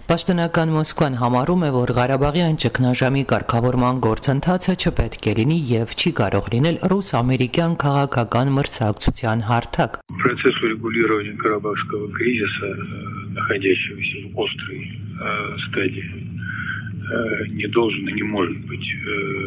Պաշտոնական Մոսկվան համարում է, որ Ղարաբաղյան ճգնաժամի կարգավորման գործընթացը չպետք է լինի եւ չի կարող լինել ռուս-ամերիկյան քաղաքական մրցակցության հարթակ։ Процесс урегулирования Карабахского кризиса, находящегося в острой стадии, не должен и не может быть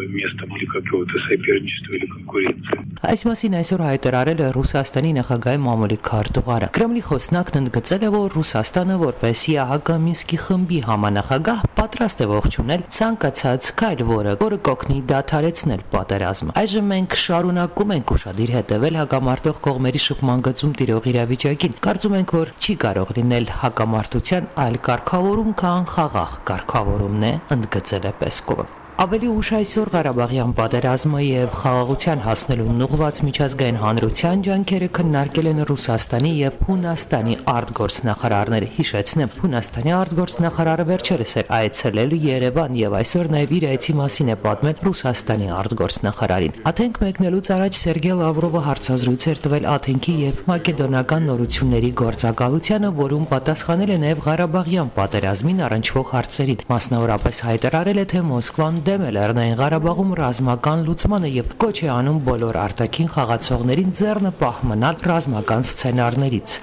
местом для какого-то соперничества или конкуренции. Այս մասին այսօր հայտարարել է Ռուսաստանի նախագահի մամուլի քարտուղարը։ Կրեմլի խոսնակն ընդգծել է, որ Ռուսաստանը որպես ՀԱԿ Մինսկի խմբի համանախագահ պատրաստ է ողջունել ցանկացած քայլ, որը կօգնի դադարեցնել պատերազմը։ Այժմ մենք շարունակում ենք ուշադիր հետևել հակամարտող կողմերի շփման գծում տիրող իրավիճակին։ Կարծում ենք, որ չի կարող լինել հակամարտության այլ կարգավորում, քան խաղաղ կարգավորումն է, ընդգծել է Պեսկովը։ Ավելի ուշ այսօր Ղարաբաղյան պատերազմը եւ խաղաղության հասնելուն ուղղված միջազգային հանրության ջանքերը քննարկել են Ռուսաստանի եւ Հունաստանի արտգործնախարարները։ Հիշեցնեմ, Հունաստանի արտգործնախարարը վերջերս էր այցելել Երևան եւ այսօր նաեւ իր այցի մասին է պատմել Ռուսաստանի արտգործնախարարին։ Աթենք մեկնելուց առաջ Սերգեյ Լավրովը հարցազրույց էր տվել Աթենքի եւ մակեդոնական նորությունների գործակալությանը, որում պատասխանել է նաեւ Ղարաբաղյան պատերազմին առնչվող հարցերին։ Մասնավորապես հայտարարել է, թե Մոսկվան դեմ է Լեռնային Ղարաբաղում ռազմական լուծմանը եւ կոչ է անում բոլոր արտաքին խաղացողներին ձեռնպահ մնալ ռազմական սցենարներից։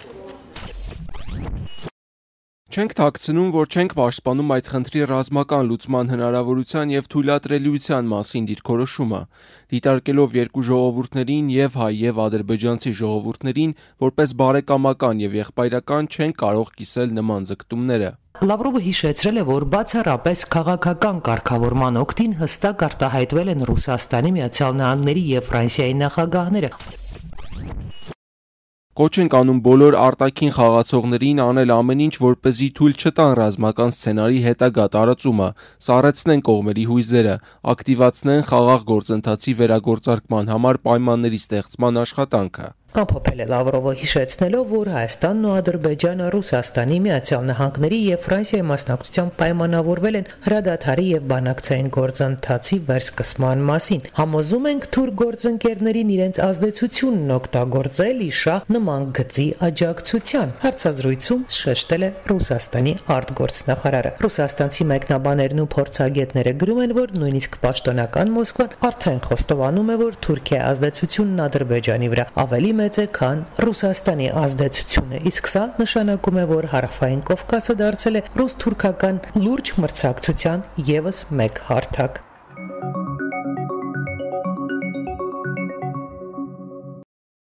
Չենք թաքցնում, որ չենք պաշտպանում այդ խնդրի ռազմական լուծման հնարավորության եւ թույլատրելիության մասին դիրքորոշումը, դիտարկելով երկու ժողովուրդներին եւ հայ եւ ադրբեջանցի ժողովուրդներին որպես բարեկամական եւ եղբայրական չեն կարող կիսել նման ձգտումները։ Լավրովը հիշեցրել է, որ բացառապես քաղաքական կարգավորման օգտին հստակ արտահայտվել են Ռուսաստանի, Միացյալ Նահանգների եւ Ֆրանսիայի նախագահները։ Կոչ ենք անում բոլոր արտաքին խաղացողներին անել ամեն ինչ, որպեսզի թույլ չտան ռազմական սցենարի հետագա տարածումը, սառեցնեն կողմերի հույզերը, ակտիվացնեն խաղաղ գործընթացի վերագործարկման համար պայմանների ստեղծման աշխատանքը։ Ամփոփել է Լավրովը, հիշեցնելով, որ Հայաստանն ու Ադրբեջանը Ռուսաստանի, Միացյալ Նահանգների եւ Ֆրանսիայի մասնակցությամբ պայմանավորվել են հրադադարի եւ բանակցային գործընթացի վերսկսման մասին։ Համոզում ենք թուրք գործընկերներին իրենց ազդեցությունն օգտագործել իշահ նման գծի աջակցության։ Հարցազրույցում շեշտել է Ռուսաստանի արտգործնախարարը։ Ռուսաստանցի մեկնաբաներն ու փորձագետները գրում են, որ նույնիսկ պաշտոնական Մոսկվան արդեն խոստովանում է, որ Թուրքիայի ազդեցությունն Ադրբեջանի վրա ավելի մեծ է, քան Ռուսաստանի ազդեցությունը, իսկ սա նշանակում է, որ Հարավային Կովկասը դարձել է ռուս-թուրքական լուրջ մրցակցության եւս մեկ հարթակ։